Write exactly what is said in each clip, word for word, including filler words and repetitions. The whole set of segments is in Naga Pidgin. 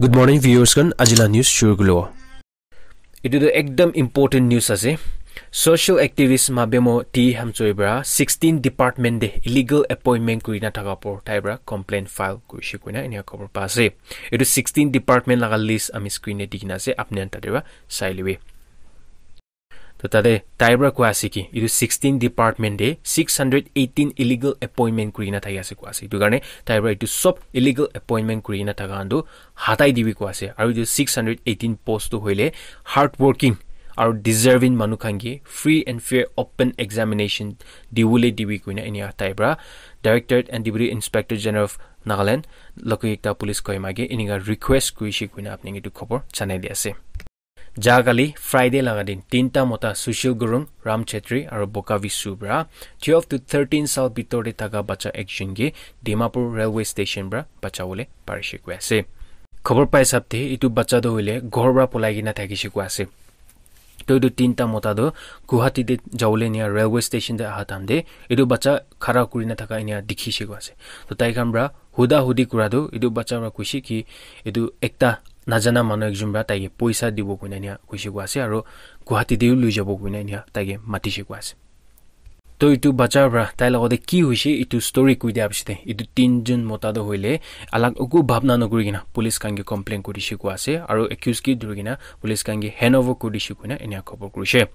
Good morning, viewers khan. Ajila news shuru kulo. Etu tu ekdam important news ase. Social activist Mabemo T Hamchoi para sixteen department de illegal appointment kuri na thaka por tai para complaint file kurishe koina enia khobor pa ase. Etu sixteen department laga list ami screen de dikhi na ase, apni khan tate para sai libi. To tate tai para koi ase ki etu sixteen department de six hundred eighteen illegal appointment kuri na thaki ase koi ase. Etu karne tai para etu sob illegal appointment kuri na thaka khan tu hatai dibi koi ase. Aru etu six hundred eighteen post tu hoile hard working aru deserving manu khan ke free and fair open examination dibole dibi koina enia tai para Directorate and Deputy Inspector General of Nagaland, Lokayukta Police Kohima ke enika request kurishe koina apni ke etu khobor janai di ase. Ja kali Friday laga din tinta mota Sushil Gurung, Ram Chetri aru Boka Visu para twelve to thirteen sal bitor te thaka bacha ekjon ke Dimapur railway station para bachabole parishe koi ase. Khobor pa hisab te etu bacha tu hoile ghor para polai kena thakishe koi ase. To etu tinta mota tu Guwahati te jabole enia railway station te aha time te etu bacha khara kuri na thaka enia dikhishe koi ase. To tai khan para huda hudi kura tu etu bacha para kuishe ki etu ekta najana manu ekjon para tai ke poisa dibo koina enia kuishe koi ase aru Guwahati te lui jabo koina enia tai ke matishe koi ase. To etu bacha para tai logote ki hoishe etu story koi dia piche te etu tinjon mota tu hoile alag uku bhabna nokuri kena police khan ke complain kurishe koi ase aru accused ke dhuri kena police khan ke hand over kuri dishe koina enia khobor kurishe.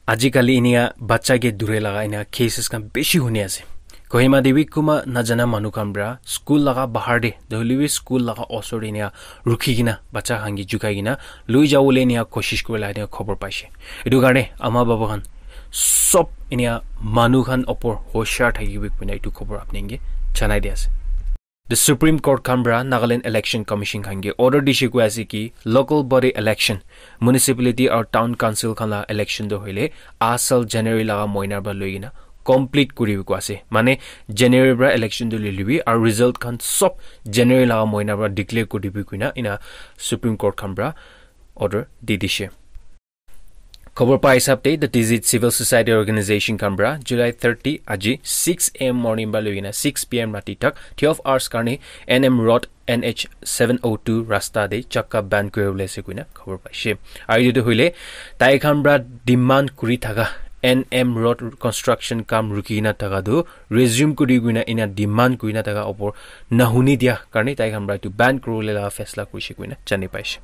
Ajikali enia bacha ke dhure laga enia cases khan bishi huni ase. Kohima te bi kunba najana manu khan para school laga bahar te, nohoile bi school laga osor te enia rukhi kena bacha khan ke jukai kena lui jabole enia koshish kuri la enia khobor paishe. Etu karne ama baba khan sob enia manu khan opor hoshiar thakibi koina etu khobor apni ke janai di ase. The Supreme Court khan para Nagaland Election Commission khan ke order dishe koi ase ki local body election, municipality or town council khan la election tu hoile asal January laga moina para loi kena complete kuri bi koi ase. Mane January para election tu loi libi aru result khan sob January laga moina para declare kuri dibi koina enia Supreme Court khan para order di dishe. Khobor pa hisab te, the Tizit Civil Society Organization khan para July thirty aji six a m morning para loi kena six p m rati tak twelve hours karne N M Road N H seven oh two rasta te chakka ban kuri bole ase koina khobor paishe. Aru etu tu hoile tai khan para demand kuri thaka N M Road construction kam rukhi kena thaka tu resume kuri koina enia demand kuri na thaka opor nahuni dia karne tai khan para etu ban kuri bole la faisla kurishe koina jani paishe.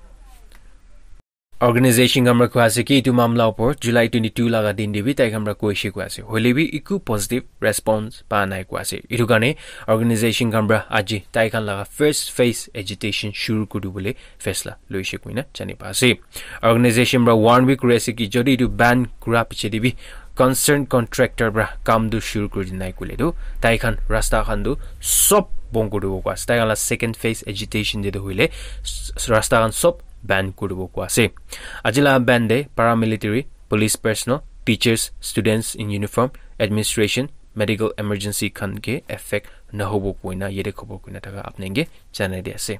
Organization khan para koi ase ki etu mamla opor July twenty two laga din te bi tai khan para koishe koi ase. Hoile bi eku positive response pa nai koi ase. Etu karne organization khan para aji tai khan laga first phase agitation shuru kuri bole faisla loishe koina jani pa ase. Organization para warn bi kuri ase ki jodi etu ban kura piche te bi concerned contractor para kam tu shuru kuri di nai koile tu tai khan rasta khan tu sob bon kuri dibo koi ase. Tai khan la second phase agitation te tu hoile s-, rasta khan sob ban kuri dibo koi ase. Aji la ban te paramilitary, police personnel, teachers, students in uniform, administration, medical emergency khan ke affect nahobo koina yate khobor koina thaka apni ke janai di ase.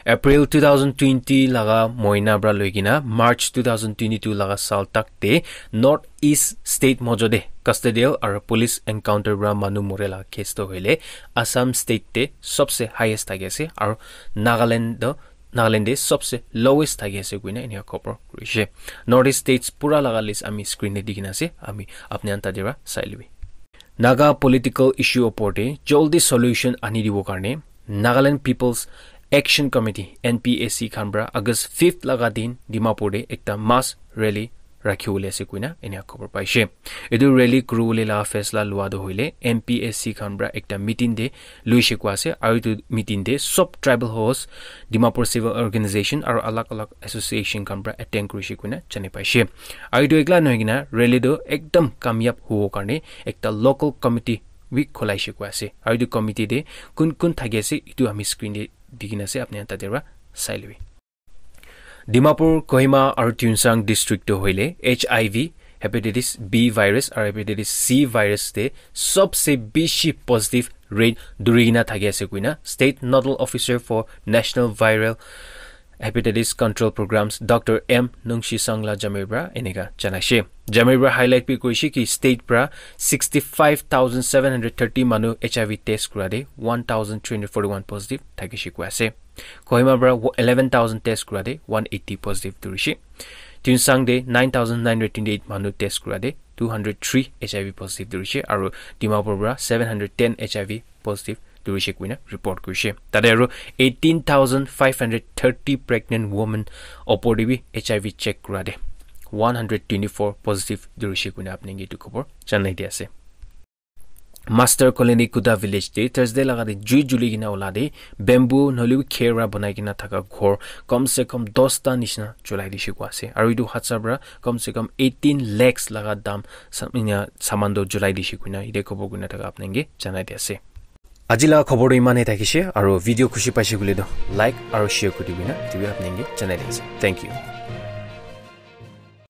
April two thousand twenty laga moina para loi kena March two thousand twenty two laga sal tak te North East State mojo te custodial aru police encounter para manu more laga case to hoile Assam State te sobse highest thaki ase aru Nagaland to Nagaland te sobse lowest thaki ase koina enia khobor kurishe. North East States pura laga list ami screen te dikhi na ase, ami apni khan tate para sai libi. Naga political issue opor te joldi solution ani dibo karne Nagaland People's Action Committee, N P A C khan para August fifth laga din Dimapur te ekta mass rally rakhi bole ase koina enia khobor paishe. Etu rally kuri bole la faisla lua tu hoile N P A C khan para ekta meeting te loishe koi ase aru etu meeting te sob tribal host, Dimapur civil organization aru alag alag association khan para attend kurishe koina jani paishe. Aru etu ekla nohoi kena rally tu ekdam kamyab hobo karne ekta local committee bi kholaishe koi ase. Aru etu committee te kun kun thaki ase etu ami screen te dikhi na ase, apni khan tate para sai libi. Dimapur, Kohima aru Tuensang district to hoile H I V, hepatitis B virus aru hepatitis C virus te sobse bishi positive rate duri kena thaki ase koina State Nodal Officer for National Viral Hepatitis Control Programs Doctor M Nungshisang la jamir pra eneka janaishe. Jamir pra highlight bi kurishe ki state pra sixty-five thousand seven hundred thirty manu H I V test kura de one thousand three hundred forty-one positive thakishe koi ase. Kohima pra eleven thousand test kura de one eighty positive durishe. Tuensang de nine thousand nine hundred twenty-eight manu test kura de two hundred three H I V positive durishe aru Dimapur pra seven hundred ten H I V positive durishe kuina report kurishe. Tade aru eighteen thousand five hundred thirty pregnant women opor de bi H I V check kura de one hundred twenty-four positive durishe kuina apni ke etu khobor janai di ase. Master Colony Kuda village de Thursday laga de jui juli kena ola de bamboo nohole bi kher pra banai kena thaka ghor kom se kom dosta nishina cholai dishe koi ase. Aru etu hadsa pra kom se kom eighteen lakhs laga dam sa- inya saman toh cholai dishe kuina ite khobor kurina thaka apni ke janai di ase. Aji laga khobor toh iman he thakishe aru video khushi paishe koile toh like aru share kuri dibina etu bi apni ke janai di ase. Thank you.